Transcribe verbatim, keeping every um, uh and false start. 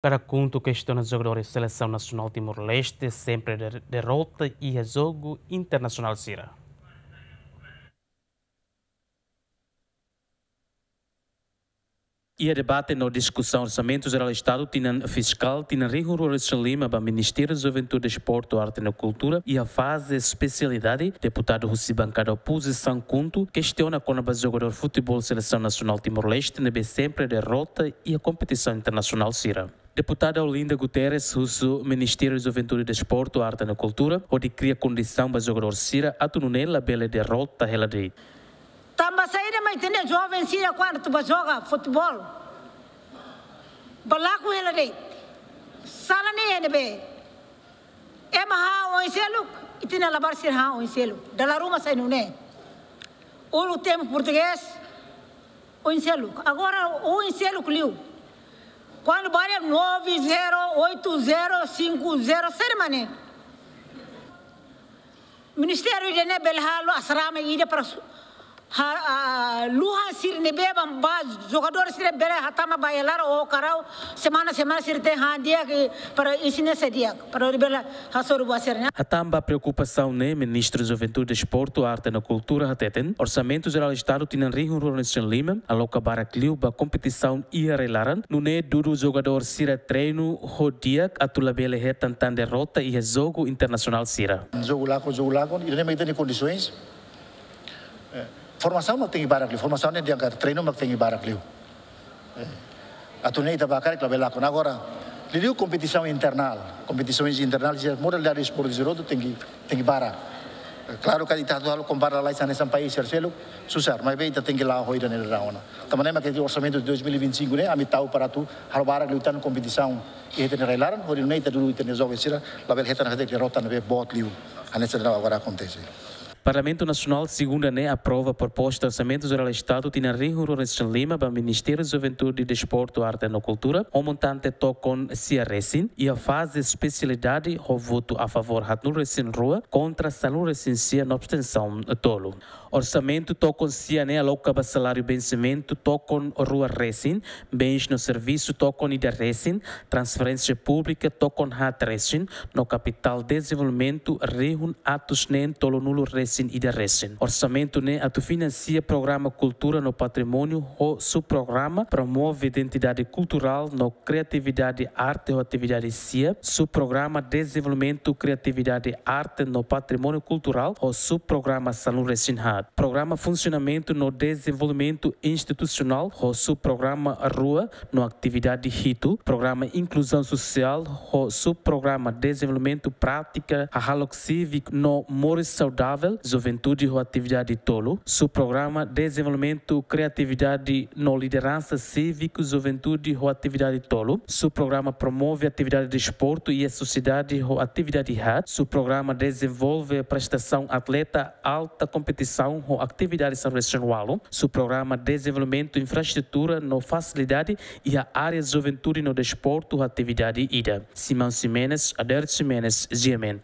Kada kuntu kestiona jogadór selesaun nasionál Timor-Leste sempre de-, derrota iha jogu internasionál sira. Iha debate no diskusaun Orsamentu Jerál Estadu tinan fiskál tinan rihun rua resin lima ba Ministériu Juventude, Desportu, Arte no Kultura iha faze espesialidade, deputadu husi bankada opozisaun KHUNTO kestiona kona-ba jogadór futeból selesaun nasionál Timor-Leste ne'ebé sempre derrota iha kompetisaun internasionál sira. Deputada Olinda Guterres husu Ministériu Juventude, Desportu, Arte no Kultura hodi kria kondisaun ba jogadór sira atu nune'e labele derrota hela de'it. Tanba saida mak ita-nia joven sira kuandu atu bá joga futeból, bá lakon hela de'it? Sala ne'e ne'ebé ema han oin seluk, ita-nia labarik sira han oin seluk. Dala ruma sai nune'e. Uluk tempu portugés, oin seluk. Agora oin seluk liu. Kuandu bá dehan nove zero, oito zero, cinco zero, saida mak ne'e? Ministériu ida-ne'e bele halo asrama ida para su-, ha, ah, luhan sira ne'ebé bá, bá jogadór sira bele hatama ba iha laran ou karau, semana, semana sira tenke han di'ak, eh, para isin ne'e sai di'ak, para bele hasoru buat sira-ne'e. Hatán ba preokupasaun ne'e, Ministru Juventude, Desportu, Arte no Kultura hateten, Orsamentu Jerál Estadu tinan rihun rua resin lima aloka barak liu ba kompetisaun iha rai-laran, nune'e dudu jogadór sira treinu ho di'ak atu labele hetan tan derrota iha jogu internasionál sira. Jogu lakon, jogu lakon, ida-ne'e mak ita-nia kondisoens. Eh, formasaun mak tenke barak liu, formasaun ne'e di'ak, treinu mak tenke barak liu. Eh, atu nune'e ita bá karik labele lakon. Agora, liuliu kompetisaun internál, kompetisaun internál, sira modalidade desportu sira hotu tenke, tenke barak. Eh, klaru katak ita atu halo kompara lalais hanesan país sira seluk, susar, maibé ita tenke la'o ho ida-ne'e dadaun ona. Tanba ne'e mak iha orsamentu de dois mil e vinte e cinco ne'e, ami tau para atu halo barak liután kompetisaun iha ita-nia rai-laran, hodi nune'e ita dudu ita-nia joven sira labele hetan derrota ne'ebé boot liu hanesan agora akontese. Parlamentu Nasionál segunda ne'e aprova proposta Orsamentu Jerál Estadu tinan rihun rua resin lima ba Ministériu Juventude, Desportu, Arte no Kultura, ho montante tokon sia resin, iha faze espesialidade ho votu a favór haatnulu resin rua, kontra sanulu resin sia no abstensaun tolu. Orsamentu tokon sia ne'e aloka ba saláriu bensimentu tokon rua resin, bens no servisu tokon ida resin, transferénsia públika tokon haat resin, no kapitál dezenvolvimentu rihun atus neen tolunulu resin ida resin. Orsamentu ne'e atu finansia programa kultura no patrimóniu ho subprograma promove identidade kulturál no kriatividade arte ho atividade sia, subprograma dezenvolvimentu kriatividade arte no patrimóniu kulturál ho subprograma sanulu resin haat. Programa funsionamentu no dezenvolvimentu institusionál ho subprograma rua no atividade hitu, programa inkluzaun sosiál ho subprograma dezenvolvimentu prátika hahalok síviku no moris saudavel, juventude ho atividade tolu, subprograma dezenvolvimentu kriatividade no lideransa síviku, juventude ho atividade tolu, subprograma promove atividade desportu iha sosiedade ho atividade haat, subprograma dezenvolve prestasaun atleta alta kompetisaun ho atividade sanulu resin ualu, subprograma dezenvolvimentu infraestrutura no fasilidade iha área juventude no desportu ho atividade ida. Simão Ximenes, Adérito Ximenes, G M N.